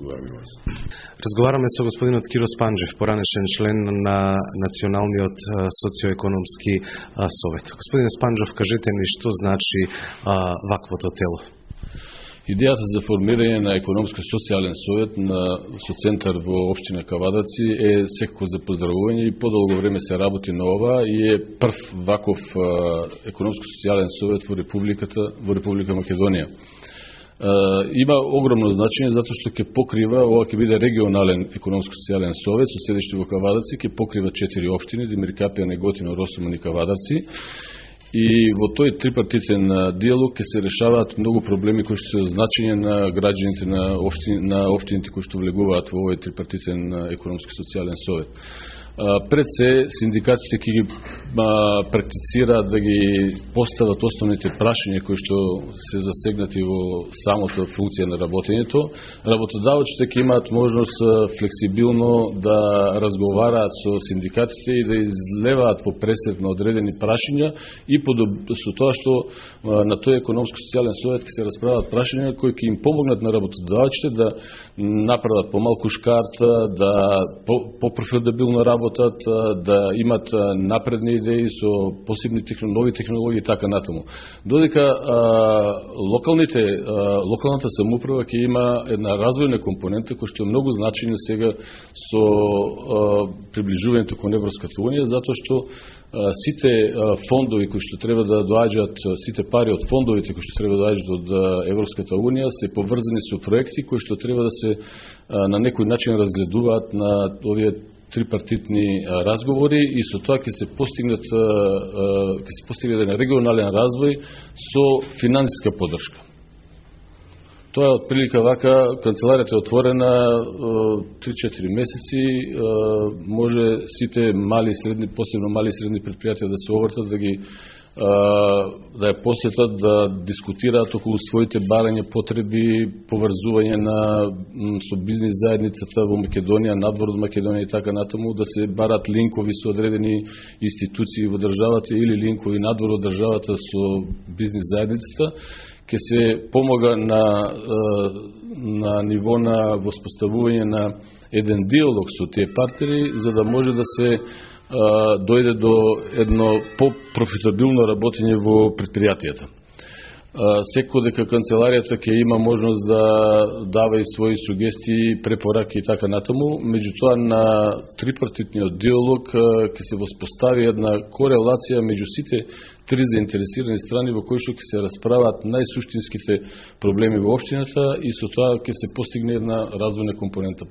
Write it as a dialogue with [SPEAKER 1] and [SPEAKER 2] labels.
[SPEAKER 1] благодарам вас.
[SPEAKER 2] Разговараме со господинот Киро Спанџев, поранешен член на Националниот социоекономски совет. Господине Спанџев, кажете ни што значи ваквото тело?
[SPEAKER 3] Идејата за формирање на економско-социјален совет со центар во општина Кавадаци е секако за поздравување и подолго време се работи на ова и е прв ваков економско-социјален совет во Република Македонија. Има огромно значење затоа што ќе покрива, ова ќе биде регионален економско-социјален совет со седиште во Кавадаци, ќе покрива 4 општини: Демиркапија, Неготино, Росуман и Кавадарци. И во тој трипартитен диалог ќе се решаваат многу проблеми кои што се од значење на граѓаните на општините кои што влегуваат во овој трипартитен економско-социјален совет. Пред се, синдикатите ќе ги практицираат да ги постават основните прашања кои што се засегнати во самото функција на работењето. Работодавачите ќе имаат можност флексибилно да разговараат со синдикатите и да излеваат по пресред на одредени прашања и со тоа што на тој економско-социјален совет ќе се расправаат прашања кои ќе им помогнат на работодавачите да направат помалку шкарта, да по-профитабилно работат, да имат напредни идеи со посебни нови технологии и така натаму. Додека локалната самоуправа ќе има една развојна компонента која што е многу значајна сега со приближувањето кон Европската унија, затоа што сите фондови кои што треба да доаѓаат, сите пари од фондовите кои што треба да доаѓаат од Европската унија се поврзани со проекти кои што треба да се на некој начин разгледуваат на овие трипартитни разговори и со тоа ќе се постигне еден регионален развој со финансиска поддршка. Тоа е отприлика вака, канцеларијата е отворена 3-4 месеци, може сите мали и средни, посебно мали и средни предпријатија да се обртат, да ја посетат, да дискутираат околу своите барања, потреби, поврзување со бизнис заедницата во Македонија, надвор од Македонија и така натаму, да се барат линкови со одредени институции во државата или линкови надвор од државата со бизнис заедницата, ќе се помога на ниво на воспоставување на еден диалог со тие партнери, за да може да се дојде до едно по-профитабилно работење во предпријатијата. Секој дека канцеларијата ќе има можност да дава и своји сугестии, препораки и така натаму, меѓутоа на трипартитниот диалог ќе се воспостави една корелација меѓу сите три заинтересирани страни во кои што ќе се расправаат најсуштинските проблеми во општината и со тоа ќе се постигне една развојна компонента.